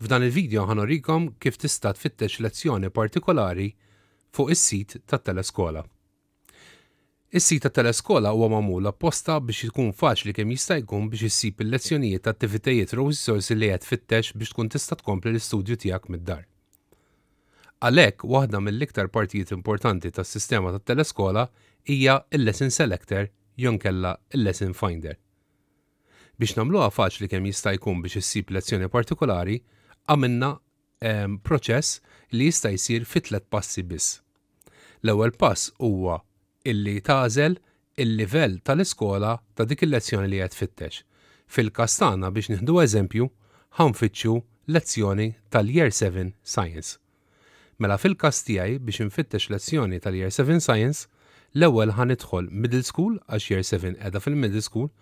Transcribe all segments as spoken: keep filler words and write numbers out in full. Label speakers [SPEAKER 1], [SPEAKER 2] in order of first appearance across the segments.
[SPEAKER 1] F'dan il-video ħa nurikom kif tista' tfittex lezzjoni partikolari fuq is-sit tat-Teleskola. Is-sit tat-Teleskola huwa magħmul apposta biex ikun faċli kemm jista' jkun biex issib il-lezzjonijiet, attivitajiet u risorsi li qed tfittex biex tkun tista' tkompli l-istudju tiegħek mid-dar. Għalhekk, waħda mill-iktar partijiet importanti tas-sistema tat-Teleskola hija il-Lesson Selector jew inkella il-Lesson Finder. Biex nagħmluha faċli kemm jista' jkun biex issib lezzjoni partikolari, għamilna ehm, proċess li jista' jsir fi tliet passi biss. L-ewwel pass huwa illi tagħżel il-livell tal-iskola ta' dik il-lezzjoni li qed tfittex. Fil-każ tagħna, biex nieħdu eżempju, ħa nfittxu lezzjoni tal-Year seven Science. Mela fil-każ tiegħi, biex nfittex lezzjoni tal-Year seven Science, l-ewwel ħa nidħol Middle School għax Year seven qiegħda fil-Middle School.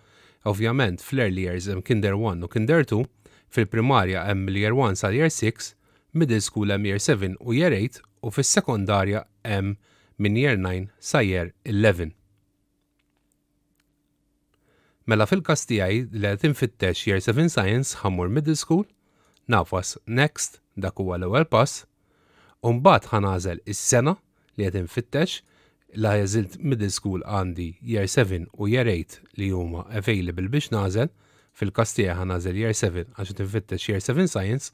[SPEAKER 1] Ovvjament fl-early years hemm Kinder one u Kinder two, fil-primarja hemm Year one sal Year six, Middle School hemm Year seven u Year eight u fis-sekondarja hemm minn Year nine sa Year eleven. Mela fil-każ tiegħi li qed infittex Year seven Science, ħa mmur Middle School, nagħfas Next, dak huwa l-ewwel pass, u mbagħad ħa nagħżel is-sena li qed infittex. La għażilt Middle School, għandi Year seven u Year eight li huma available biex nagħżel. Fil-każ tiegħi ħa nagħżel Year seven għax qed infittex Year seven Science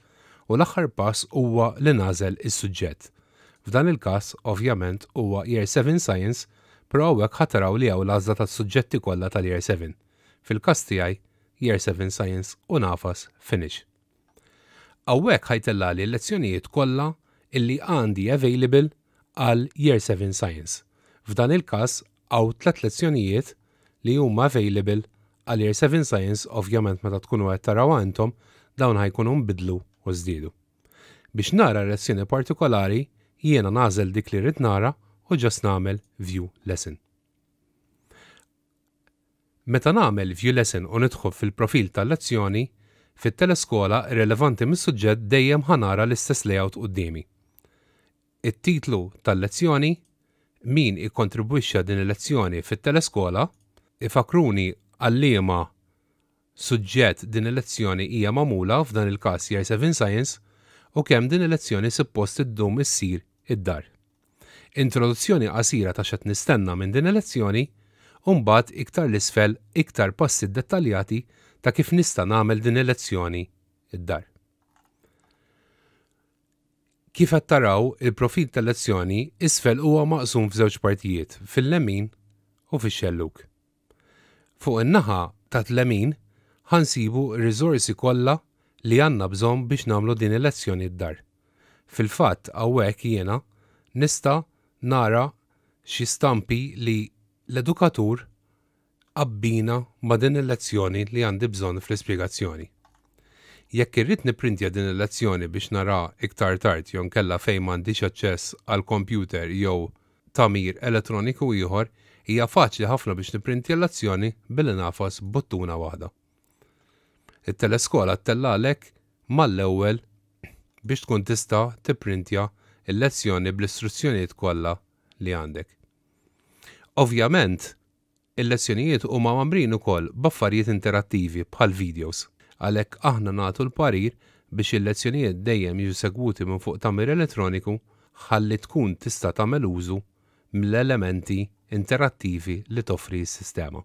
[SPEAKER 1] u l-aħħar pass huwa li nagħżel is-suġġett. F'dan il-każ ovvjament huwa Year seven Science, però hawnhekk ħa taraw li hawn l-għażla tas-suġġetti kollha tal-Year seven. Fil-każ tiegħi Year seven Science u nagħfas Finish. Hawnhekk ħa jtellagħli l-lezzjonijiet kollha illi għandi available għal Year seven Science. F'dan il-każ hawn tliet lezzjonijiet li huma available għal Year seven Science. Ovvjament meta tkunu qed taraw intom, dawn ħa jkunu nbidlu u żdiedu. Biex nara lezzjoni partikolari, jiena nagħżel dik li rrid nara u just nagħmel View Lesson. Meta nagħmel View Lesson u nidħol fil-profil tal-lezzjoni, fit-Teleskola, irrelevanti mis-suġġett, dejjem ħa nara l-istess layout quddiemi. It-titlu tal-lezzjoni, min ikkontribwixxa din il-lezzjoni fit-Teleskola, ifakruni għal liema suġġett din il-lezzjoni hija magħmula, f'dan il-każ Year seven Science, u kemm din il-lezzjoni suppost iddum issir id-dar. Introduzzjoni qasira ta' x'qed nistenna minn din il-lezzjoni u mbagħad iktar 'l isfel iktar passi dettaljati ta' kif nista' nagħmel din il-lezzjoni id-dar. Kif qed taraw, il-profil tal-lezzjoni isfel huwa maqsum f'żewġ partijiet, fil-lemin u fix-xelluk. Fuq in-naħa tat-lemin ħa nsibu r-riżorsi kollha li għandna bżonn biex nagħmlu din il-lezzjoni d-dar. Fil-fatt hawnhekk jiena nista' nara xi stampi li l-edukatur abbina ma' din il-lezzjoni li għandi bżonn fl-ispjegazzjoni. Jekk irrid nipprintja din il-lezzjoni biex nara iktar tard jew nkella fejn m'għandix aċċess għal computer jew tagħmir elettroniku ieħor, hija faċli ħafna biex nipprintja l-lezzjoni billi nagħfas buttuna waħda. It-Teleskola ttellagħlek mal-ewwel biex tkun tista' tipprintja il-lezzjoni bl-istruzzjonijiet kollha li għandek. Ovvjament, il-lezzjonijiet huma mgħammrin ukoll b'affarijiet interattivi bħal videos. Għalhekk aħna nagħtu l-parir biex il-lezzjonijiet dejjem jiġu segwuti minn fuq tagħmir elettroniku ħalli tkun tista' tagħmel użu mill-elementi interattivi li toffri s-sistema.